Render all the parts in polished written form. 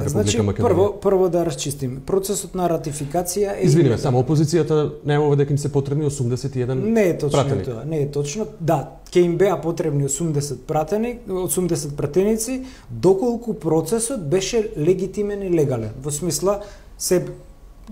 Значи, прво да расчистиме. Процесот на ратификација е... Извиниме, само опозицијата најавува дека им се потребни 81 Не е точно пратени. Тоа, не е точно. Да, ќе им беа потребни 80 пратеници, доколку процесот беше легитимен и легален. Во смисла,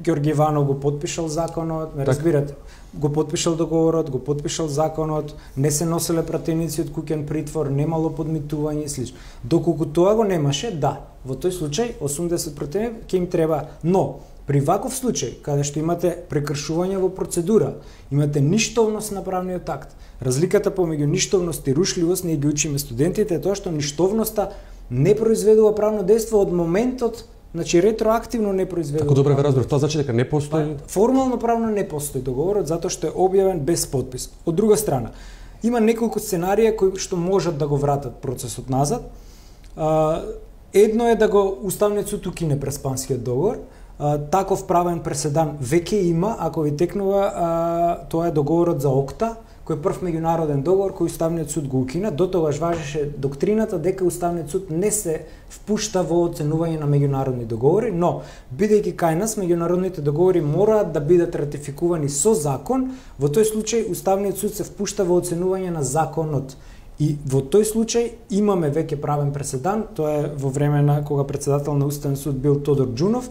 Ѓорги Иванов го потпишал законот, ме разбирате, го потпишал договорот, го потпишал законот, не се носеле пратеници од куќен притвор, немало подмитување и слично. Доколку тоа го немаше, да, во тој случај 80 пратеници ќе им треба, но при ваков случај, каде што имате прекршување во процедура, имате ништовност на правниот акт. Разликата помеѓу ништовност и рушливост, ние ги учиме студентите, е тоа што ништовноста не произведува правно дејство од моментот. Значи ретроактивно не произведува. Како добро ве разбрав, тоа значи дека не постои формално правно не постои договорот затоа што е објавен без подпис. Од друга страна, има неколку сценарија кои што можат да го вратат процесот назад. Едно е да го Уставниот суд укине преспанскиот договор. Таков правен преседан веќе има, ако ви текнува, тоа е договорот за ОКТА, кој е прв меѓународен договор кој Уставниот суд го укина. Дотогаш важеше доктрината дека Уставниот суд не се впушта во оценување на меѓународни договори, но бидејќи кај нас меѓународните договори мораат да бидат ратификувани со закон, во тој случај Уставниот суд се впушта во оценување на законот. И во тој случај имаме веќе правен преседан, тоа е во време на кога председател на Уставен суд бил Тодор Џунов,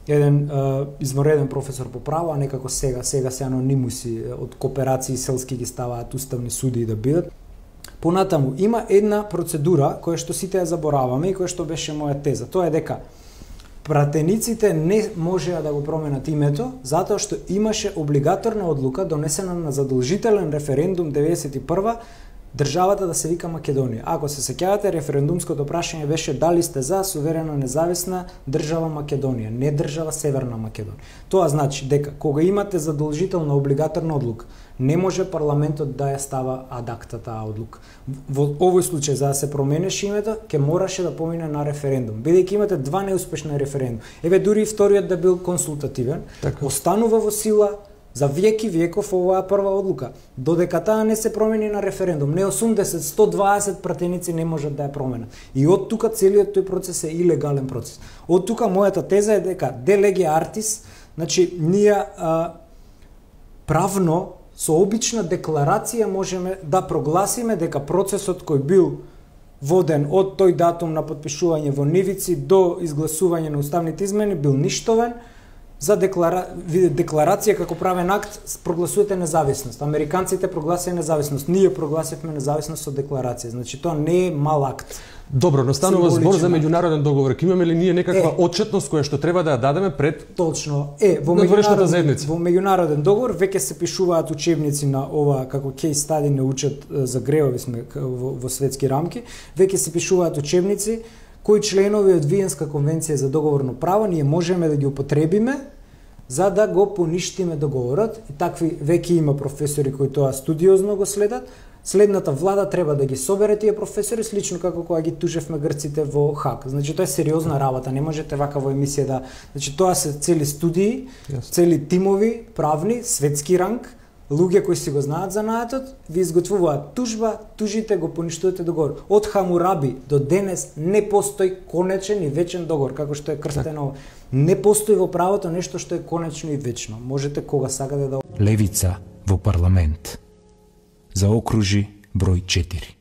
еден измореден професор по право, а некако сега се анонимуси од кооперации селски ги ставаат уставни суди да бидат. Понатаму има една процедура која што сите ја забораваме и која што беше моја теза. Тоа е дека пратениците не можеа да го променат името затоа што имаше облигаторна одлука донесена на задолжителен референдум 91 државата да се вика Македонија. Ако се сеќавате, референдумското прашање беше дали сте за суверена независна држава Македонија, не држава Северна Македонија. Тоа значи дека кога имате задолжителна облигаторна одлука, не може парламентот да ја става ад акта таа одлука. Во овој случај за да се променеше името, ќе мораше да помине на референдум. Бидејќи имате два неуспешни референдум. Еве дури и вториот да бил консултативен, останува во сила за веки веков оваа прва одлука. Додека таа не се промени на референдум, не 80, 120 пратеници не можат да ја променат. И од тука целиот тој процес е илегален процес. Од тука мојата теза е дека de lege artis, значи ние правно со обична декларација можеме да прогласиме дека процесот кој бил воден од тој датум на потпишување во нивици до изгласување на уставните измени бил ништовен. За декларација како правен акт прогласувате независност. Американците прогласија независност, ние прогласивме независност со декларација. Значи тоа не е мал акт. Добро, но станува збор за меѓународен договор. Имаме ли ние некаква отчетност која што треба да ја дадеме пред Точно. Во меѓународен договор веќе се пишуваат учебници на ова како кейс стади не учат за гревови сме во светски рамки. Веќе се пишуваат учебници кои членови од Виенска конвенција за договорно право ние можеме да ги употребиме за да го поништиме договорот. И такви веќе има професори кои тоа студиозно го следат. Следната влада треба да ги собере тие професори, слично како кога ги тужевме грците во Хаг. Значи тоа е сериозна работа, не можете вака во емисија да... Значи тоа се цели студии, цели тимови, правни, светски ранг, луѓе кои си го знаат занаатот, ви изготвуваат тужба, тужите, го поништувате договор. Од Хамураби до денес не постои конечен и вечен договор, како што е крстено. Не постои во правото нешто што е конечно и вечно. Можете кога сакате да... Левица во парламент. Заокружи број 4.